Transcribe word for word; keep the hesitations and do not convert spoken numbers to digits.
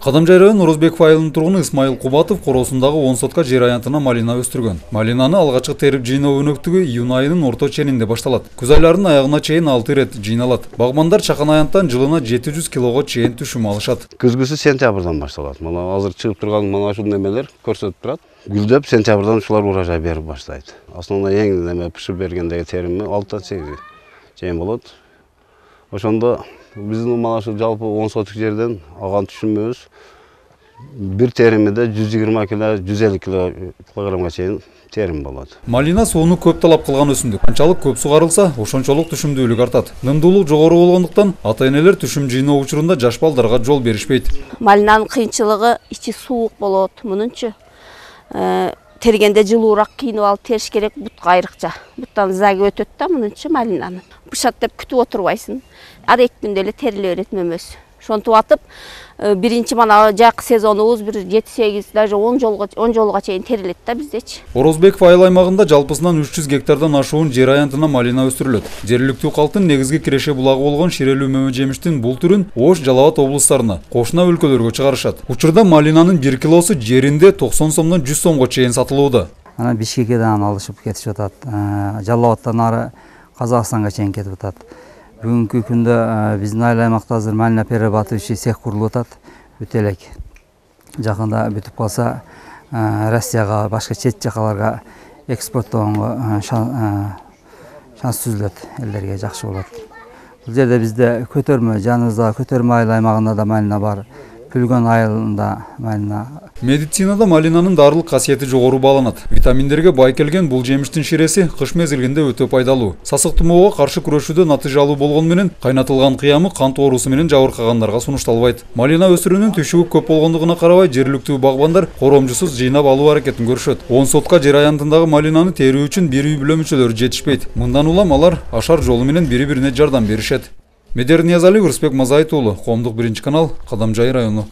Кадамжай району Орозбеков айылынын тургуну Исмайыл Кубатов короосундагы он сотка жер аянтына малина өстүргөн. Малинаны алгачкы терип жыйноо өнөктүгү июнь айынын орто ченинде башталат. Күз айларынын аягына чейин алты ирет жыйналат. Багмандар чакан аянттан жылына жети жүз килого чейин түшүм алышат. Күзгүсү сентябрдан башталат. Мына азыр чыгып турган мына ушул немелер көрсөтүп турат. Гүлдөп сентябрдан ушулар урожай берип баштайт. Основной эң неме пишип бергендеги терими алтыдан сегизге чейин болот. Ошондо биздин мына ушул жалпы он соток жерден алган түшүмүбүз бир теримиде жүз жыйырма кило, жүз элүү килограммга чейин терим болот. Малина сууну көп талап кылган өсүмдүк. Канчалык көп сугарылса, ошончолук түшүмдүүлүк артат. Нымдуулук жогору болгондуктан ата-энелер түшүм жыйноо учурунда жаш балдарга жол беришпейт. Малинанын кыйынчылыгы ичи суук болот, мунунчу тергенде жылуураак кийинип алып териш керек, бутка айрыкча. Буттан заги өтөт да мунунчу малинаны. Бышат деп күтүп отурбайсың. Ар эки күндө эле териле берет мөмөсү. Ошонтип атып, биринчи мана жакы сезонубуз бир жети сегиз, даже он жолго он жолго чейин терилет да биздечи. Орозбеков айыл аймагында жалпысынан үч жүз гектардан ашуун жер аянтына малина өстүрүлөт. Жергиликтүү калктын негизги киреше булагы болгон Ширелүү мөмө жемиштин бул түрүн Ош, Жалал Абад облустарына, кошуна өлкөлөргө чыгарышат. Учурда малинанын бир килосу жеринде токсон сомдон жүз сомго чейин сатылууда. Анан Бишкекеден алышып кетип жатат. Жалал Абадтан ары Казакстанга чейин кетип атат. Бүгүнкү күндө биздин айыл аймакта азыр малина перерабатывающий цех курулуп атат. Бүтө элек. Жакында бүтүп калса, Россияга, башка чет жакаларга экспорттогонго шанс түзүлөт, элдерге жакшы болот. Бул жерде бизде көтөрмө, жаныбызда көтөрмө айыл аймагында да малина бар. Пүлгөн айылында малина. Медицинада малинанын дарылык касиети жогору бааланат. Витаминдерге бай келген бул жемиштин ширеси кыш мезгилинде өтө пайдалуу. Сасык тумоого каршы күрөшүүдө натыйжалуу болгону менен кайнатылган кыямы кант оорусу менен жабыркагандарга сунушталбайт. Малина өсүрүүнүн түшүгү көп болгондугуна карабай, жергиликтүү багбандар коромжусуз жыйнап алуу аракетин көрүшөт. он сотка жер аянтындагы малинаны терүү үчүн бир үй бүлө мүчөлөрү жетишпейт. Мындан улам алар ашар жолу менен бири-бирине жардам беришет. Медер Ниязалиев, Рысбек Мазайыт уулу, Коомдук биринчи канал, Кадамжай району.